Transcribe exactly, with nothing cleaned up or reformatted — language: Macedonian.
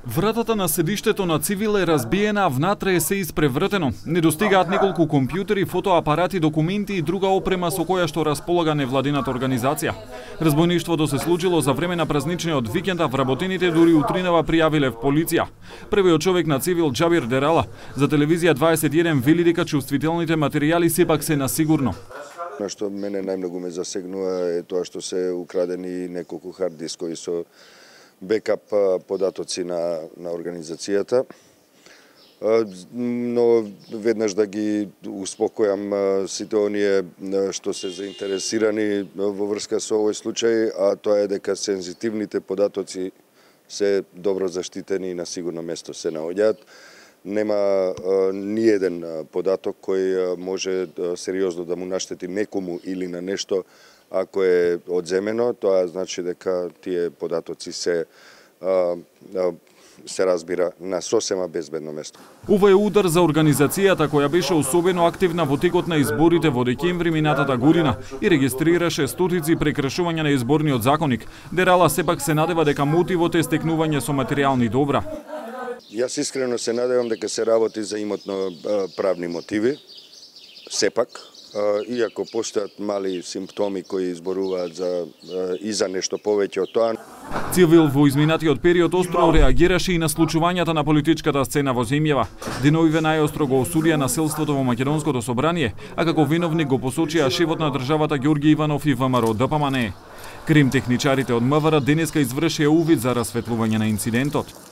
Вратата на седиштето на Цивил е разбиена, а внатре е се испревртено. Не достигаат неколку компјутери, фотоапарати, документи и друга опрема со која што располага невладината организација. Разбойништвото се случило за време на празничниот викенд, а вработените дури утринава пријавиле в полиција. Првиот човек на Цивил, Џабир Дерала, за телевизија дваесет и еден вели дека чувствителните материјали сепак се на сигурно. На што мене најмногу ме засегнува е тоа што се украдени неколку хард дискови со бекап податоци на, на организацијата. Но веднаш да ги успокојам сите оние што се заинтересирани во врска со овој случај, а тоа е дека сензитивните податоци се добро заштитени и на сигурно место се наоѓаат. Нема ни еден податок кој може сериозно да му наштети некому или на нешто ако е одземено. Тоа значи дека тие податоци се се разбира на сосема безбедно место. Ова е удар за организацијата која беше особено активна во текот на изборите во декември минатата година и регистрираше стотици прекршувања на изборниот законник. Дерала сепак се надева дека мотивот е стекнување со материјални добра. Јас искрено се надевам дека се работи за имотно правни мотиви, сепак, иако постојат мали симптоми кои изборуваат за и за нешто повеќе од тоа. Цивил во изминатиот период остро реагираше и на случувањата на политичката сцена во земјава. Деновиве најостро го осудија насилството во Македонското собрание, а како виновник го посочија шефот на државата Ѓорги Иванов и ВМРО Д П М Н Е. Крим техничарите од МВР денеска извршија увид за расветлување на инцидентот.